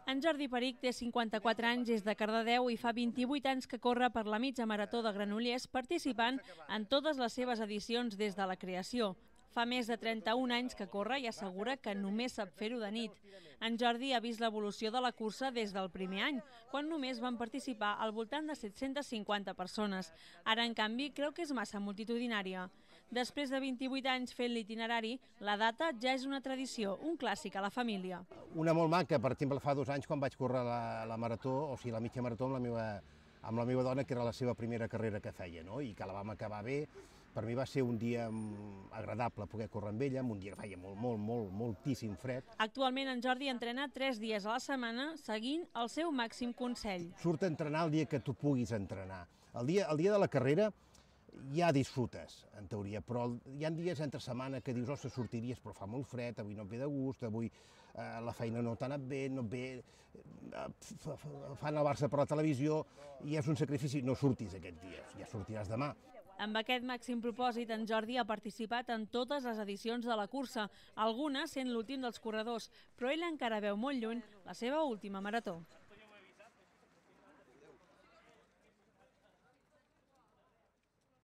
En Jordi Perich té 54 anys, és de Cardedeu i fa 28 anys que corre per la mitja marató de Granollers, participant en totes les seves edicions des de la creació. Fa més de 31 anys que corre i assegura que només sap fer-ho de nit. En Jordi ha vist l'evolució de la cursa des del primer any, quan només van participar al voltant de 750 persones. Ara, en canvi, creu que és massa multitudinària. Després de 28 anys fent l'itinerari, la data ja és una tradició, un clàssic a la família. Una molt maca, per exemple, fa 2 anys quan vaig córrer la marató, o sigui, la mitja marató amb la meva dona, que era la seva primera carrera que feia, no? I que la vam acabar bé. Per mi va ser un dia agradable poder córrer amb ella, un dia que feia moltíssim fred. Actualment en Jordi entrena 3 dies a la setmana seguint el seu màxim consell. Surt a entrenar el dia que tu puguis entrenar. El dia de la carrera ja disfrutes, en teoria, però hi ha dies entre setmana que dius, ostres, sortiries, però fa molt fred, avui no et ve de gust, avui la feina no t'ha anat bé, no et ve, fan el Barça per la televisió i és un sacrifici, no surtis aquests dies, ja sortiràs demà. Amb aquest màxim propòsit, en Jordi ha participat en totes les edicions de la cursa, algunes sent l'últim dels corredors, però ell encara veu molt lluny la seva última marató.